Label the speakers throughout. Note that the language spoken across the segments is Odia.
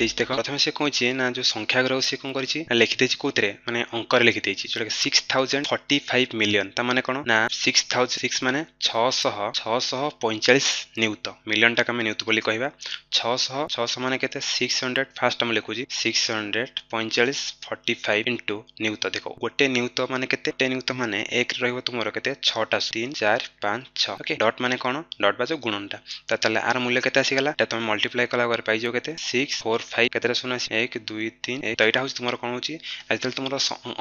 Speaker 1: ଦେଇଛି। ଦେଖ, ପ୍ରଥମେ ସେ କହୁଛି ନା ଯୋଉ ସଂଖ୍ୟା ଗୁରାକୁ ସେ କଣ କରିଛି ନା ଲେଖିଦେଇଛି କୋଉଥିରେ, ମାନେ ଅଙ୍କରେ ଲେଖିଦେଇଛି, ଯୋଉଟା 6045 ମିଲିୟନ। ତା ମାନେ କଣ ନା 6006 ମାନେ 600, 645 ନିୟୁତ। ମିଲିୟନଟାକୁ ଆମେ ନିୟୁତ ବୋଲି କହିବା। 600, 600 ମାନେ କେତେ? 600। ଫାଷ୍ଟ ଆମେ ଲେଖୁଛି 645, 45 ଇଣ୍ଟୁ ନିୟୁତ। ଦେଖ, ଗୋଟେ ନିୟୁତ ମାନେ କେତେ? ଗୋଟେ ନିୟୁତ ମାନେ ଏକରେ ରହିବ ତୁମର କେତେ? ଛଅଟା, ତିନି, ଚାରି, ପାଞ୍ଚ, ଛଅ। ଓକେ, ଡଟ୍ ମାନେ କଣ? ଡଟ୍ ବା ଯୋଉ ଗୁଣନଟା। ତ ତାହେଲେ ଆର ମୂଲ୍ୟ କେତେ ଆସିଗଲା? ଏଟା ତମେ ମଲ୍ଟିପ୍ଲାଏ କଲା ପରେ ପାଇଯିବ କେତେ? ସିକ୍ସ ଫୋର୍ ଫାଇଭ, କେତେଟା ଶୂନ ଅଛି? ଏକ, ଦୁଇ, ତିନି, ଏକ। ତ ଏଇଟା ହଉଛି ତୁମର କଣ ହଉଛି? ଯେତେବେଳେ ତୁମର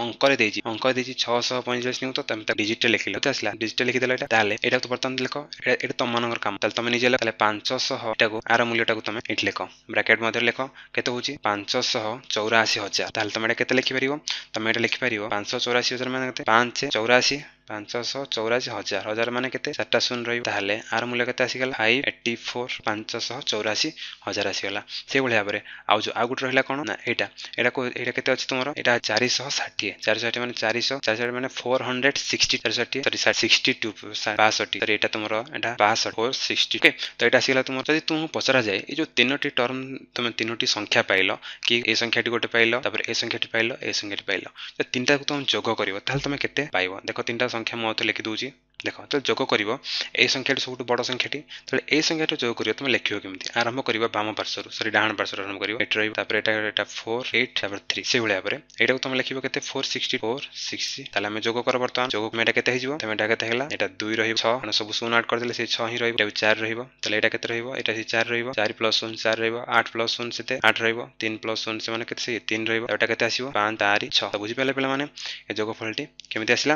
Speaker 1: ଅଙ୍କରେ ଦେଇଛି 645 ନିୟୁତ, ତମେ ତାକୁ ଡିଜିଟରେ ଲେଖିଲ, କେତେ ଆସିଲା? ଡିଜିଟରେ ଲେଖିଦେଲ ଏଇଟା। ତାହେଲେ ଏଇଟାକୁ ବର୍ତ୍ତମାନ ଲେଖ। ଏଇଟା ତମମାନଙ୍କର କାମ। ତାହେଲେ ତମେ ନିଜେ ଲେଖ। ତାହେଲେ 500, ଏଟାକୁ ଆର ମୂଲ୍ୟଟାକୁ ତମେ ଏଇଠି ଲେଖ, ବ୍ରାକେଟ ମଧ୍ୟରେ ଲେଖ। କେତେ ହଉଛି? 584 ହଜାର। ତାହେଲେ ତମେ ଏଇଟା କେତେ ଲେଖିପାରିବ? ତମେ ଏଇଟା ଲେଖିପାରିବ 584 ହଜାର ମାନେ କେତେ? ପାଞ୍ଚ ଚଉରାଅଶୀ, 584 ହଜାର। ହଜାର ମାନେ କେତେ? ଚାରିଟା ଶୂନ ରହିବ। ତାହେଲେ ଆର ମୂଲ୍ୟ କେତେ ଆସିଗଲା? 584, 584 ହଜାର ଆସିଗଲା। ସେଇଭଳି ଭାବରେ ଆଉ ଯୋଉ ଆଉ ଗୋଟେ ରହିଲା କଣ ନା ଏଇଟା, ଏଇଟା କେତେ ଅଛି ତୁମର? ଏଇଟା 460। 460 ମାନେ 400, 460 ମାନେ 460, 460, ସରି, 62, 62, ସରି, ଏଇଟା ତୁମର ଏଇଟା 62, 460। ଓକେ, ତ ଏଇଟା ଆସିଗଲା ତୁମର। ଯଦି ତୁମକୁ ପଚରାଯାଏ, ଏଇ ଯୋଉ ତିନୋଟି ଟର୍ମ, ତମେ ତିନୋଟି ସଂଖ୍ୟା ପାଇଲ କି ଏ ସଂଖ୍ୟାଟି ଗୋଟେ ପାଇଲ, ତାପରେ ଏ ସଂଖ୍ୟାଟି ପାଇଲ, ଏ ସଂଖ୍ୟାଟି ପାଇଲ, ତ ତିନିଟାକୁ ତମେ ଯୋଗ କରିବ, ତାହେଲେ ତମେ କେତେ ପାଇବ? ଦେଖ, ତିନିଟା ସଂଖ୍ୟା ମୁଁ ଆଉ ଲେଖି ଦଉଛି। ଦେଖ, ତ ଯୋଗ କରିବ, ଏଇ ସଂଖ୍ୟାଟି ସବୁଠୁ ବଡ଼ ସଂଖ୍ୟାଟି। ତାହେଲେ ଏଇ ସଂଖ୍ୟାଟି ଯୋଗ କରିବ, ତମେ ଲେଖିବ କେମିତି? ଆରମ୍ଭ କରିବ ବାମ ପାର୍ଶ୍ୱରୁ, ସରି, ଡାହାଣ ପାର୍ଶ୍ୱରୁ ଆରମ୍ଭ କରିବ। ଏଠି ରହିବ, ତାପରେ ଏଇଟା ଫୋର୍, ଏଇଟ୍, ତାପରେ ଥ୍ରୀ। ସେଇଭଳି ଭାବରେ ଏଇଟାକୁ ତମେ ଲେଖିବ କେତେ? 460, 460। ତାହେଲେ ଆମେ ଯୋଗ କର ବର୍ତ୍ତମାନ। ଯୋଗ ଏଇଟା କେତେ ହେଇଯିବ? ତମେ ଏଇଟା କେତେ ହେଲା? ଏଇଟା ଦୁଇ ରହିବ, ଛଅ, କାରଣ ସବୁ ଶୂନ ଆଡ୍ କରିଦେଲେ ସେଇ ଛଅ ହିଁ ରହିବ। ଏଇଟା ଚାରି ରହିବ। ତାହେଲେ ଏଇଟା କେତେ ରହିବ? ଏଇଟା ସେଇ ଚାରି ରହିବ। ଚାରି ପ୍ଲସ୍ ଶୂନ ଚାରି ରହିବ। ଆଠ ପ୍ଲସ୍ ଶୂନ ସେତେ ଆଠ ରହିବ। ତିନି ପ୍ଲସ୍ ଶୂନ ସେମାନେ କେତେ? ସେଇ ତିନି ରହିବ। ଏଇଟା କେତେ ଆସିବ? ପାଞ୍ଚ, ଚାରି, ଛଅ। ତ ବୁଝିପାରିଲେ ପିଲାମାନେ, ଏ ଯୋଗଫଳଟି କେମିତି ଆସିଲା?